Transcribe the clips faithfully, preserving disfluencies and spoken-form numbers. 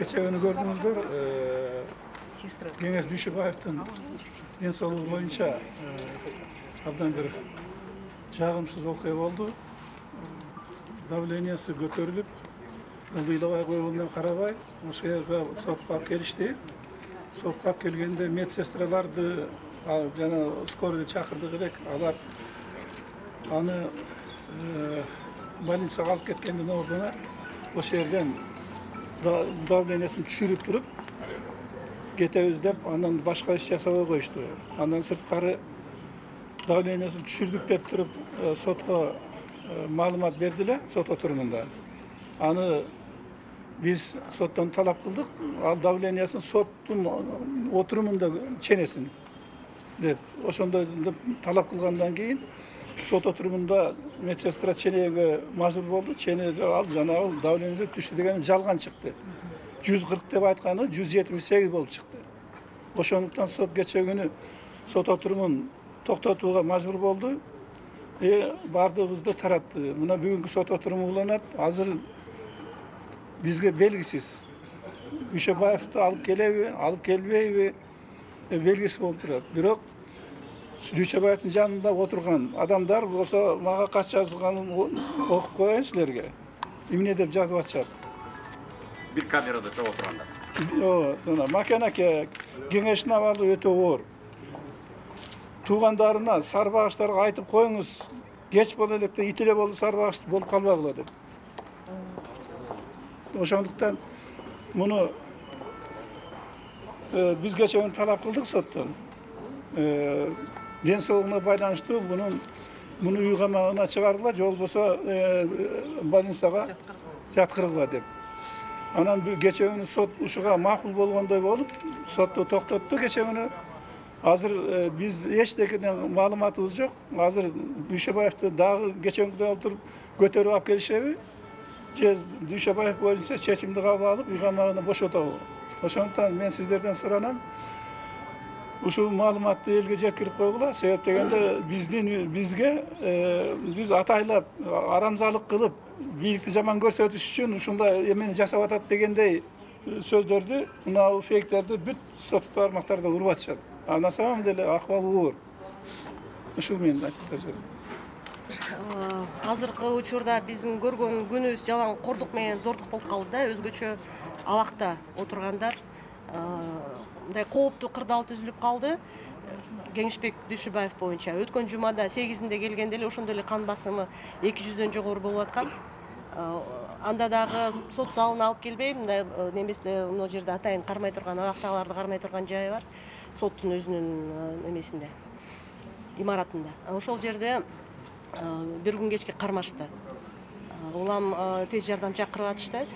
Кечеүнү көрдүңүздөр, Кеңеш Дүйшөбаевдин ден соолугу боюнча абдан бир жагымсыз окуя болду. Давлениясы көтөрүлүп, ылдыйлабай койгонуна карабай, ошол жерге сотко алып келишти. Сотко алып келгенде медсестраларды жана скорый чакырдык элек. Алар аны больницага алып кеткендин ордуна ошол жерден давлениясын түшүрүп туруп кетебиз деп, андан башка иш жасабай коюшту. Андан сырткары давлениясын түшүрдүк деп туруп сотко маалымат бердиле, сот отурумунда. Аны биз соттон талап кылдык, ал давлениясын соттун отурумунда ченесин деп. Ошондой талап кылгандан кийин сот отурумунда медсестра ченеге мажбур болду. Чене ал жана ал давлениясы түштү дегени жалган чыкты. жүз кырк деп айтканы жүз жетимиш сегиз болуп чыкты. Ошондуктан сот кече күнү сот отурумун токтотууга мажбур болду. Э бардыгыбызды таратты. Мына бүгүнкү сот отуруму уланат. Азыр бизге белгисиз. Дүйшөбаевди алып келеби, алып келбейби белгисиз болуп турат. Бирок Дүйшөбаевдин жанында отурган адамдар болсо мага кат жазганын окуп коеюн силерге. Эмне деп жазып атышат? Бир камерада чогуу отурганда. Ооба, Макен аке, кеңештин абалы өтө оор. Туугандарына, сарбагычтарга айтып коюңуз, кеч боло электе ит эле болду сарбагыч болуп калбагыла деп. Ошондуктан муну биз кече күнү талап кылдык соттон. Ден соолугуна байланыштуу мунун муну үй камагына чыгаргыла, же болбосо больницага жаткыргыла деп. Анан кече күнү сот ушуга макул болгондой болуп, сотту токтотту кече күнү. Азыр биз эчтекеден маалыматыбыз жок. Азыр Дүйшөбаевди дагы кече күндө отуруп көтөрүп алып келишеби? Же Дүйшөбаев боюнча чечимди кабыл алып, үй камагына бошотобу? Ошондуктан мен сиздерден суранам, ушул маалыматты элге жеткирип койгула. Себеп дегенде биздин бизге биз атайлап арамзалык кылып, бийликти жаман көрсөтүш үчүн ушундай эмени жасап атат дегендей сөздөрдү, мына фейктерди бүт сот тармактарда уруп атышат. А на самом деле акыбал оор. Ушул менин айтып Азыркы учурда биздин көргөн күнүбүз жалаң кордук менен зордук болуп калды да. Өзгөчө абакта отургандар мындай кооптуу кырдаал түзүлүп калды. Кеңешбек Дүйшөбаев боюнча өткөн жумада сегизинде келгенде эле ошондой эле кан басымы эки жүздөн жогору болуп аткан. Анда дагы сот залына алып келбей, мындай неместе мына жерде атайын кармай турган, абактагыларды кармай турган жайы бар. Соттун өзүнүн немесинде, имаратында. Ошол жерде бир күн кечке кармашты. Улам тез жардам чакырып атышты.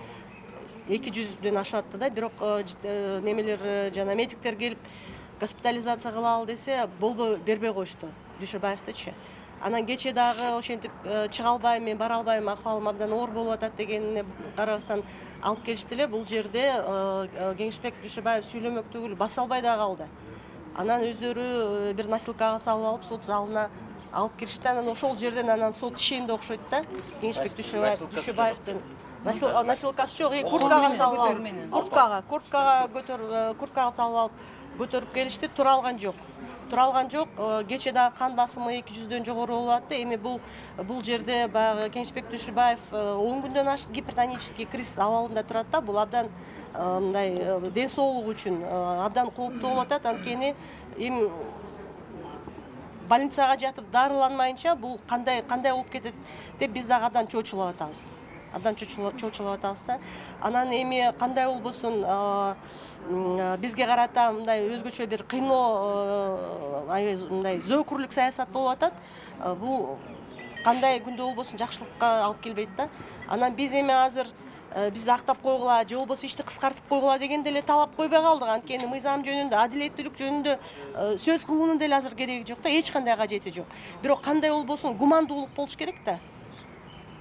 эки жүздөн ашып атты да, бирок немелер жана медиктер келип госпитализация кылалы десе, болбой бербей коюшту Дүйшөбаевдичи. Анан кече дагы ошентип чыга албайм, мен бара албайм, акыбалым абдан оор болуп атат дегенине карабастан алып келишти эле. Бул жерде Кеңешбек Дүйшөбаев сүйлөмөк түгүл баса албай да калды. Анан өздөрү бир носилкага салып алып сот залына алып киришти. Анан ошол жерден анан сот ишенди окшойт да. Кеңешбек Дүйшөбаевдин носилкасы жок, курткага салып алып, курткага, курткага көтөр, курткага салып алып көтөрүп келишти. Тура алган жок. Тура алган жок. Кече дагы кан басымы эки жүздөн жогору болуп атты. Эми бул бул жерде баягы Кеңешбек Дүйшөбаев он күндөн ашык гипертонический криз абалында турат да. Бул абдан мындай ден соолугу үчүн абдан кооптуу болуп атат. Анткени эми больницага жатып дарыланмайынча бул кандай кандай болуп кетет деп биз дагы абдан чочулуп атабыз. Абдан чочулуп атабыз да. Анан эми кандай болбосун бизге карата мындай өзгөчө бир кыйноо, мындай зөөкүрлүк саясат болуп атат. Бул кандай күндө болбосун жакшылыкка алып келбейт да. Анан биз эми азыр бизди актап койгула, же болбосо ишти кыскартып койгула деген деле талап койбой калдык. Анткени мыйзам жөнүндө, адилеттүүлүк жөнүндө сөз кылуунун деле азыр кереги жок да, эч кандай кажети жок. Бирок кандай болбосун гумандуулук болуш керек да.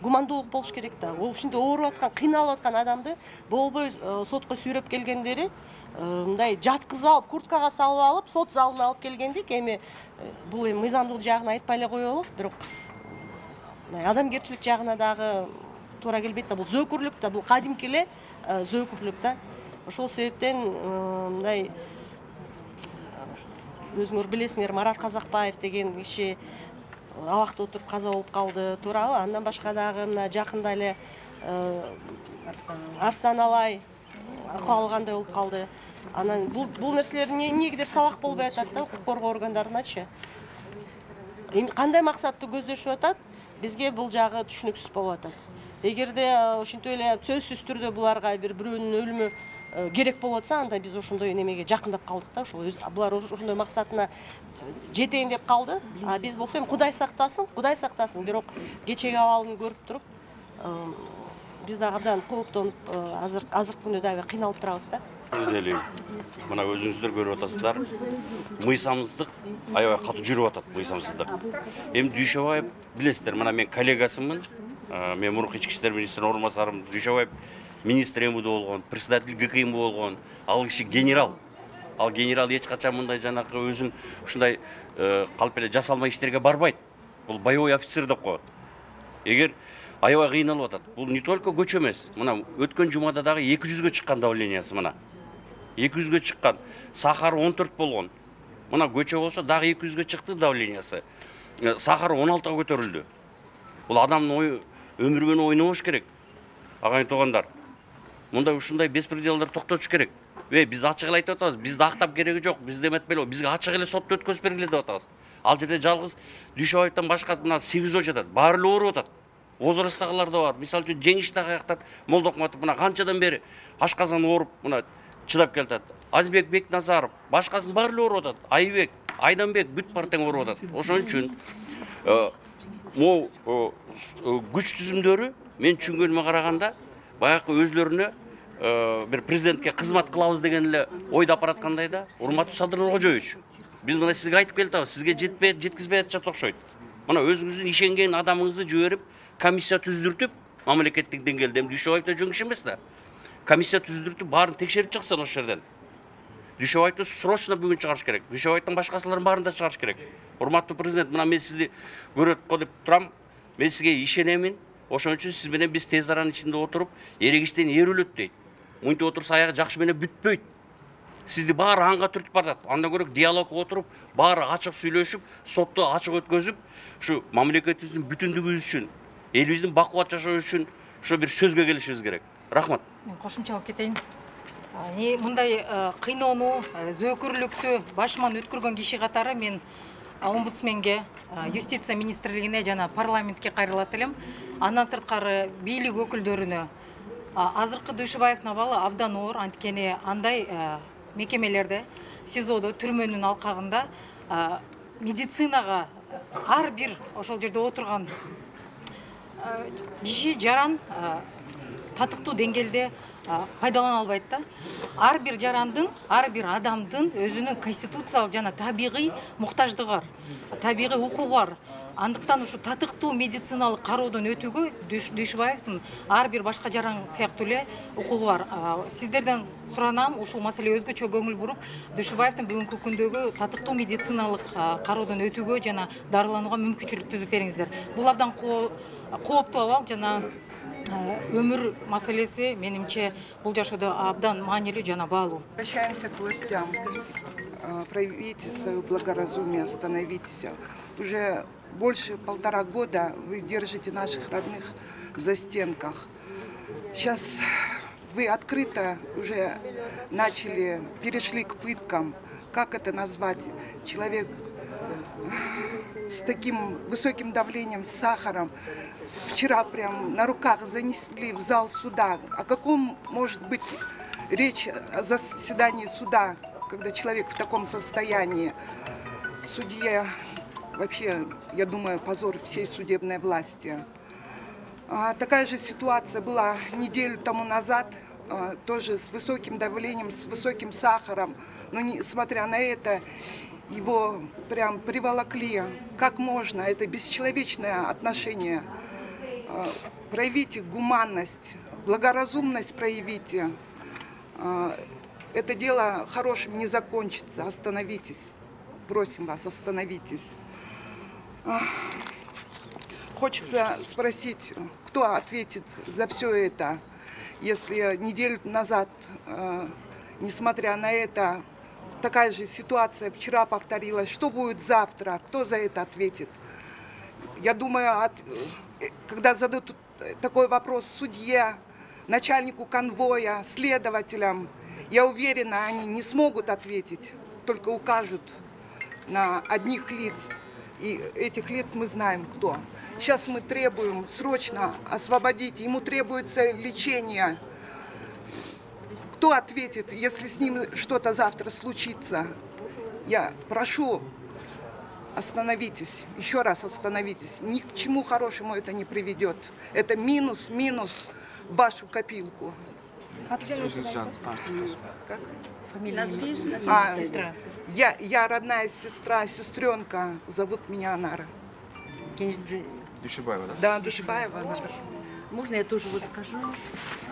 Гумандуулук болуш керек да. Ушинтип ооруп аткан, кыйналып аткан адамды болбой сотко сүйрөп келгендери мындай жаткызып алып, курткага салып алып, сот залына алып келгендик. Эми бул эми мыйзамдуулук жагын айтпай эле коелу, бирок адамгерчилик жагына дагы туура келбейт да. Бул зөөкүрлүк да, бул кадимки эле зөөкүрлүк да. Ошол себептен мындай өзүңөр билесиңер, Марат Казакбаев деген киши абакта отуруп каза болуп калды, туурабы? Андан башка дагы мына жакында эле Арслан Алай акыбалы кандай болуп калды. Анан бул нерселер эмнегедир сабак болбой атат да укук коргоо органдарыначы. Эми кандай максатты көздөшүп атат? Бизге бул жагы түшүнүксүз болуп атат. Эгерде ошентип эле сөзсүз түрдө буларга бир бирөөнүн өлүмү керек болуп атса, анда биз ошондой немеге жакындап калдык да, ошол булар ошондой максатына жетейин деп калды. А биз болсо эми Кудай сактасын, Кудай сактасын, бирок кечеги абалын көрүп туруп, биз дагы абдан кооптонуп, азыр азыркы күндө дагы кыйналып турабыз да. Изелейм. Мына өзүңүздөр көрүп атасыздар. Мыйсамсыздык аябай катуу жүрүп атат, мыйсамсыздык. Эми Дүйшөбаев билесиздер, мына мен коллегасымын. Мен мурунку ички иштер министринин орун басарым. Дүйшөбаев министр эм у д болгон, председатель гэ ка эм у болгон. Ал киши генерал. Ал генерал эч качан мындай жанакы өзүн ушундай калп эле жасалма иштерге барбайт. Бул боевой офицер деп коет. Эгер аябай кыйналып атат. Бул не только көчө эмес. Мына өткөн жумада дагы эки жүзгө чыккан давлениясы мына. эки жүзгө чыккан. Сахар он төрт болгон. Мына көчө болсо дагы эки жүзгө чыкты давлениясы. Сахар он алтыга көтөрүлдү. Бул адамдын өмүрү менен ойнобош керек. Агайын туугандар. Мындай ушундай беспределдер токтотуш керек. Эй, биз ачык эле айтып атабыз. Бизди актап кереги жок. Бизди эметпеле. Бизге ачык эле сотто өткөзүп бергиле деп атабыз. Ал жерде жалгыз Дүйшөбаевден башка мына сегиз жөө жатат. Баары эле ооруп атат. Возрасттагылар да бар. Мисалы үчүн Жеңиш дагы аяктат. Молдокматов мына канчадан бери ашказан ооруп мына чыдап келатат. Азбек Бекназаров, башкасын баары эле ооруп атат. Айбек, Айданбек бүт бар тең ооруп атат. Ошон үчүн могу күч түзүмдөрү мен түшүнгөнүмө караганда баягы өзлөрүнө бир президентке кызмат кылабыз деген эле ойдоп бараткандай да. Урматтуу Садыр Нуркожоевич, биз мына сизге айтып келип атабыз, сизге жетпей жеткизбей атышат окшойт. Мына өзүңүздүн ишенген адамыңызды жиберип, комиссия түздүртүп, мамлекеттик деңгээлде Дүйшөбаев да жөн киши эмес да. Комиссия түздүртүп, баарын текшерип чыксын ошол жерден. Дүйшөбаевди срочно бүгүн чыгарыш керек. Дүйшөбаевдин башкасыларын баарын да чыгарыш керек. Урматтуу президент, мына мен сизди көрөт го деп турам. Мен сизге ишенемин. Ошон үчүн сиз менен биз тез аранын ичинде отуруп, эрегиштен эр өлөт дейт. Мынтип отурса аягы жакшы менен бүтпөйт. Сизди баары анга түртүп барат. Андан көрө диалогго отуруп, баары ачык сүйлөшүп, сотту ачык өткөзүп, ушу мамлекетибиздин бүтүндүгүбүз үчүн, элибиздин бакубат жашоо үчүн ошо бир сөзгө келишибиз керек. Рахмат. Мен кошумчалап кетейин. Мындай кыйноонуу, зөөкүрлүктү башыман өткөргөн киши катары мен омбудсменге, юстиция министрлигине жана парламентке кайрылат элем. Андан сырткары бийлик өкүлдөрүнө азыркы Дүйшөбаевдин абалы абдан оор, анткени андай мекемелерде, СИЗОдо, түрмөнүн алкагында медицинага ар бир ошол жерде отурган киши жаран татыктуу деңгээлде пайдалана албайт да. Ар бир жарандын, ар бир адамдын өзүнүн конституциялык жана табигый муктаждыгы бар, табигый укугу бар. Андыктан ушу татыктуу медициналык кароодон өтүүгө Дүйшөбаевдин ар бир башка жаран сыяктуу эле укугу бар. Сиздерден суранам, ушул маселеге өзгөчө көңүл буруп, Дүйшөбаевдин бүгүнкү күндөгү татыктуу медициналык кароодон өтүүгө жана дарыланууга мүмкүнчүлүк түзүп бериңиздер. Бул абдан кооптуу абал жана өмүр маселеси менимче бул жашоодо абдан маанилүү жана баалуу. Обращаемся к властям. Проявите свое благоразумие, остановитесь. Уже больше полтора года вы держите наших родных в застенках. Сейчас вы открыто уже начали, перешли к пыткам. Как это назвать? Человек с таким высоким давлением, с сахаром. Вчера прям на руках занесли в зал суда. О каком может быть речь о заседании суда, когда человек в таком состоянии? Судья, вообще, я думаю, позор всей судебной власти. А, такая же ситуация была неделю тому назад, а, тоже с высоким давлением, с высоким сахаром. Но несмотря на это, его прям приволокли. Как можно? Это бесчеловечное отношение. А, проявите гуманность, благоразумность проявите. А, это дело хорошим не закончится. Остановитесь. Просим вас, остановитесь. Хочется спросить, кто ответит за все это, если неделю назад э, несмотря на это, такая же ситуация вчера повторилась. Что будет завтра? Кто за это ответит? Я думаю, от, когда зададут такой вопрос судье, начальнику конвоя, следователям, я уверена, они не смогут ответить, только укажут на одних лиц. И этих лиц мы знаем, кто. Сейчас мы требуем срочно освободить. Ему требуется лечение. Кто ответит, если с ним что-то завтра случится? Я прошу, остановитесь, еще раз остановитесь. Ни к чему хорошему это не приведет. Это минус, минус в вашу копилку. Как? Фамилия, А, сестра. я, я родная сестра, сестренка, зовут меня Анара. Душибаева, да? Да, Душибаева Анара. Можно я тоже вот скажу?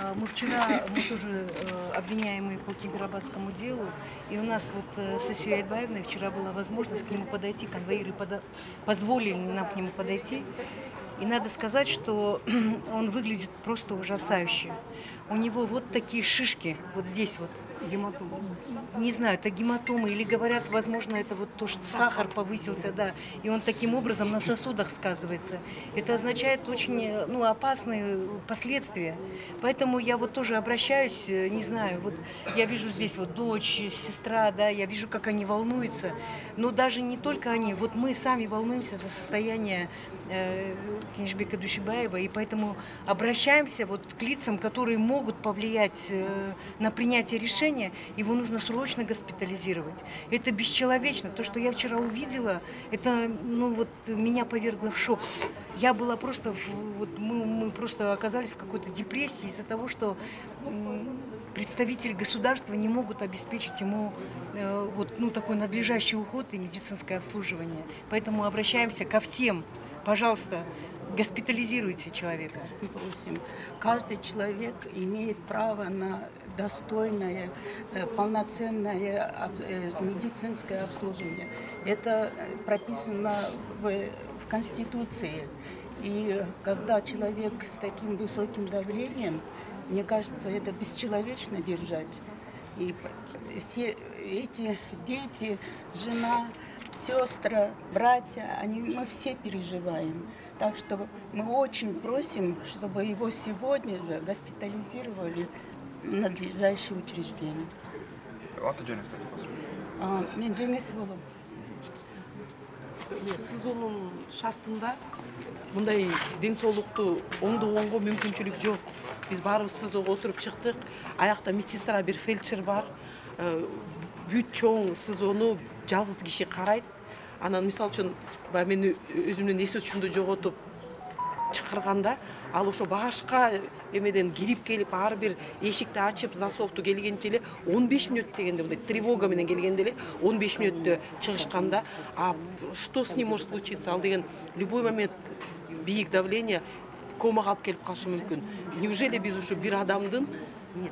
А, Мы вчера, мы тоже э, обвиняемые по Кемпирабадскому делу, и у нас вот э, с Асией Айтбаевной вчера была возможность к нему подойти, конвоиры пода- позволили нам к нему подойти. И надо сказать, что он выглядит просто ужасающе. У него вот такие шишки, вот здесь вот. Гематома. Не знаю, это гематомы, или говорят, возможно, это вот то, что сахар повысился, да, и он таким образом на сосудах сказывается. Это означает очень, ну, опасные последствия. Поэтому я вот тоже обращаюсь, не знаю, вот я вижу здесь вот дочь, сестра, да, я вижу, как они волнуются, но даже не только они, вот мы сами волнуемся за состояние э, Кенжбека Душибаева, и поэтому обращаемся вот к лицам, которые могут повлиять э, на принятие решения. Его нужно срочно госпитализировать. Это бесчеловечно. То, что я вчера увидела, это, ну, вот, меня повергло в шок. Я была просто, вот, мы, мы просто оказались в какой-то депрессии из-за того, что м, представители государства не могут обеспечить ему э, вот, ну, такой надлежащий уход и медицинское обслуживание. Поэтому обращаемся ко всем. Пожалуйста, госпитализируйте человека. Просим. Каждый человек имеет право на достойное, полноценное медицинское обслуживание. Это прописано в, в Конституции. И когда человек с таким высоким давлением, мне кажется, это бесчеловечно держать. И все эти дети, жена, сестры, братья, они, мы все переживаем. Так что мы очень просим, чтобы его сегодня же госпитализировали в надлежащее учреждение. Аты жөнү кстати, А, мен жеңесі болом. СИЗОнун шартында мындай ден соолукту оңдогонго мүмкүнчүлүк жок. Биз баарыбыз СИЗОго отуруп чыктык. Аякта медсестра, бир фельдшер бар. Бүт чоң СИЗОну жалгыз киши карайт. Анан мисалы үчүн баягы мен өзүмдүн эс учумду жоготуп чакырганда, ал ошо башка эмеден кирип келип, ар бир эшикти ачып, засовду келгенче эле он беш мүнөт дегенде, мындай тревога менен келгенде эле он беш мүнөттө чыгышканда, а что с ним может случиться? Ал деген любой момент бийик давление комага алып келип калышы мүмкүн. Неужели биз ушу бир адамдын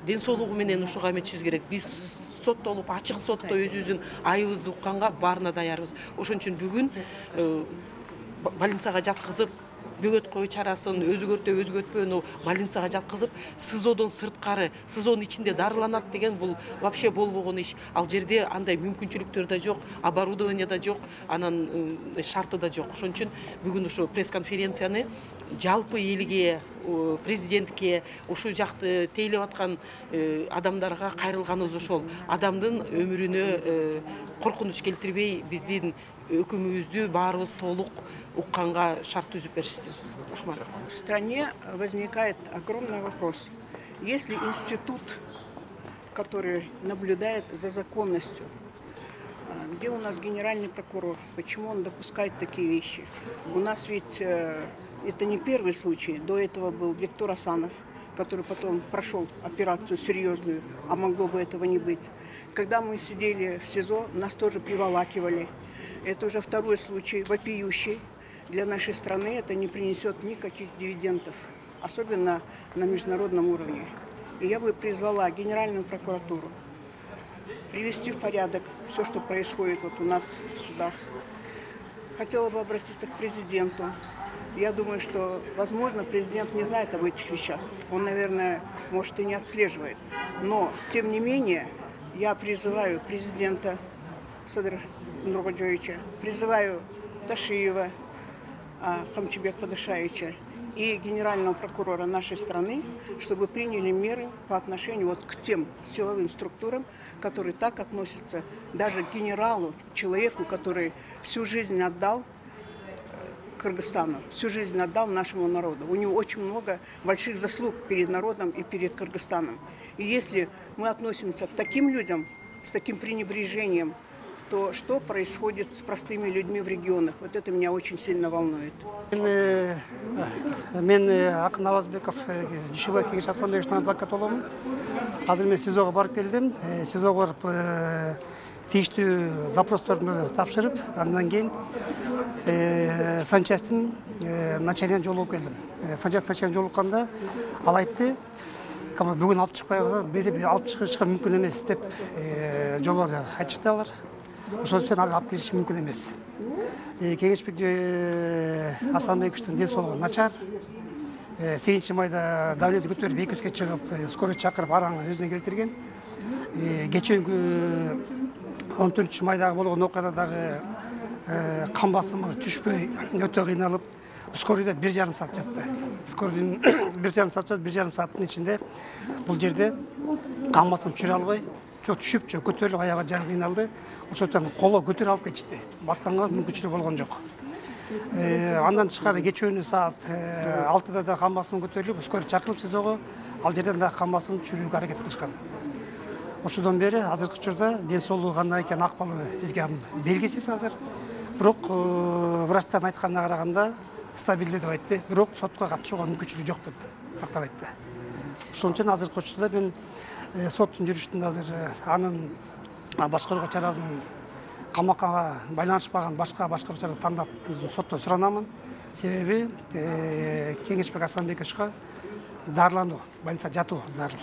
ден соолугу менен ушуга эметишибиз керек? Биз соттолуп, ачык сотто өзүбүздүн айыбызды укканга баарына даярбыз. Ошон үчүн бүгүн больницага жаткызып, бөгөт кою чарасын өзгөртө өзгөртпөнү больницага жаткызып, СИЗОдон сырткары, СИЗОнун ичинде дарыланат деген бул вообще болбогон иш. Ал жерде андай мүмкүнчүлүктөр да жок, оборудование да жок, анан шарты да жок. Ошон үчүн бүгүн ушу пресс-конференцияны жалпы элге, президентке, ушу жакты тейлеп аткан адамдарга кайрылганыбыз ошол. Адамдын өмүрүнө коркунуч келтирбей, биздин өкүмүбүздү баарыбыз толук укканга шарт түзүп беришсин. Рахмат. В стране возникает огромный вопрос. Если институт, который наблюдает за законностью, где у нас генеральный прокурор, почему он допускает такие вещи? У нас ведь это не первый случай. До этого был Виктор Асанов, который потом прошел операцию серьезную, а могло бы этого не быть. Когда мы сидели в СИЗО, нас тоже приволакивали. Это уже второй случай, вопиющий. Для нашей страны это не принесет никаких дивидендов, особенно на международном уровне. И я бы призвала Генеральную прокуратуру привести в порядок все, что происходит вот у нас в судах. Хотела бы обратиться к президенту, Я думаю, что, возможно, президент не знает об этих вещах. Он, наверное, может и не отслеживает. Но, тем не менее, я призываю президента Садыр Нуркоджоевича, призываю Ташиева Камчыбек Падышаевича и генерального прокурора нашей страны, чтобы приняли меры по отношению вот к тем силовым структурам, которые так относятся даже к генералу, человеку, который всю жизнь отдал Кыргызстану, всю жизнь отдал нашему народу. У него очень много больших заслуг перед народом и перед Кыргызстаном. И если мы относимся к таким людям с таким пренебрежением, то что происходит с простыми людьми в регионах? Вот это меня очень сильно волнует. Мен Акын Авазбеков, Дүйшөбай Кеңеш Ассамблеясынын адвокаты боламын. Азыр мен СИЗОго барып келдим. СИЗОго барып тийиштүү запросторду тапшырып, андан кийин санчастын начальнигине жолугуп келдим. Санчаст начальниги жолукканда ал айтты, бүгүн алып чыкпай берип алып чыгышка мүмкүн эмес деп жободо айтышты алар. Ошол үчүн азыр алып келиш мүмкүн эмес. Кеңешбек Асанбековичтин ден соолугу начар. сегизинчи майда давлениеси көтөрүп эки жүзгө чыгып, скорый чакырып араны өзүнө келтирген. Кечээнкү он төртүнчү майдагы болгон окуяда дагы кан басымы түшпөй өтө кыйналып, скорыйда бир жарым саат жатты. Скорыйдын бир жарым саат жатып, бир жарым сааттын ичинде бул жерде кан басымы түшүрө албай, жок түшүп, жок көтөрүлүп, аягы жан кыйналды. Ошондон коло көтөрүп алып кетишти. Басканга мүмкүнчүлүк болгон жок. Андан тышкары кечөөнү саат алтыда да кан басымы көтөрүлүп, скорый чакырылып СИЗОго, ал жерден да кан басымын түшүрүүгө аракет кылышкан. Ошондон бери азыркы учурда ден соолугу кандай экени, акыбалы бизге белгисиз азыр. Бирок врачтардын айтканына караганда стабилдүү деп айтты, бирок сотко катышууга мүмкүнчүлүк жок деп тактап айтты. Ошон үчүн азыркы учурда мен соттун жүрүшүндө азыр анын башкарууга чарасын камакка байланышпаган башка башкаруу чара тандап соттон суранамын. Себеби Кеңешбек Асанбековичке дарылануу, больницада жатуу зарыл.